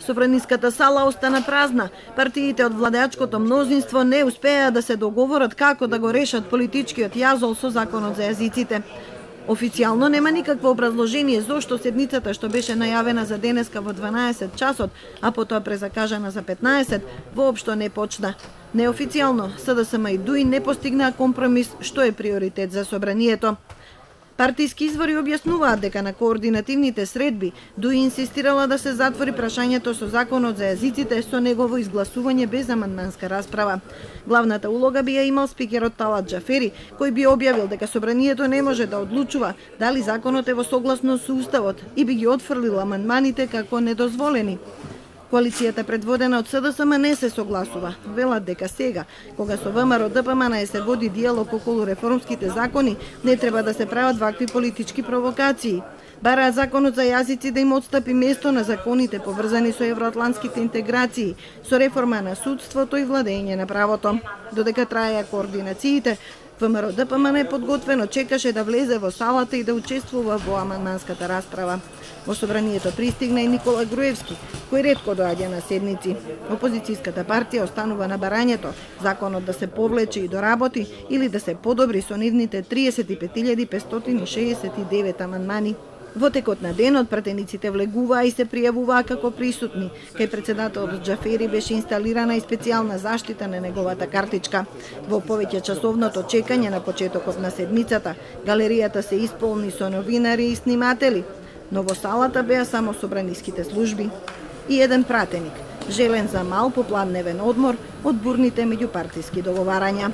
Собраниската сала остана празна. Партиите од владеачкото мнозинство не успеа да се договорат како да го решат политичкиот јазол со законот за јазиците. Официјално нема никакво образложение зошто седницата што беше најавена за денеска во 12 часот, а потоа презакажана за 15, воопшто не почна. Неофицијално, СДСМ и ДУИ не постигнаа компромис што е приоритет за собранието. Партиски извори објаснуваат дека на координативните средби ДУИ инсистирала да се затвори прашањето со законот за јазиците со негово изгласување без амандманска расправа. Главната улога би ја имал спикерот Талат Џафери, кој би објавил дека собранието не може да одлучува дали законот е во согласност со уставот и би ги отфрлил амандманите како недозволени. Коалицијата предводена од СДСМ не се согласува. Велат дека сега, кога со ВМРО ДПМН се води диалог околу реформските закони, не треба да се прават вакви политички провокации. Бараат законот за јазици да им отстапи место на законите поврзани со евроатлантските интеграции, со реформа на судството и владење на правото. Додека траеа координациите, ВМРО ДПМН подготвено чекаше да влезе во салата и да учествува во амандманската расправа. Во собранието пристигна и Никола Груевски, кој ретко доаѓа на седници. Опозицијската партија останува на барањето законот да се повлече и доработи или да се подобри со нивните 35.569 амандмани. Во текот на денот пратениците влегуваа и се пријавуваа како присутни. Кај председателот Џафери беше инсталирана и специјална заштита на неговата картичка. Во повеќе часовното чекање на почетокот на седмицата, галеријата се исполни со новинари и сниматели, но во салата беа само собраниските служби и еден пратеник, желен за мал попладневен одмор од бурните меѓупартиски договарања.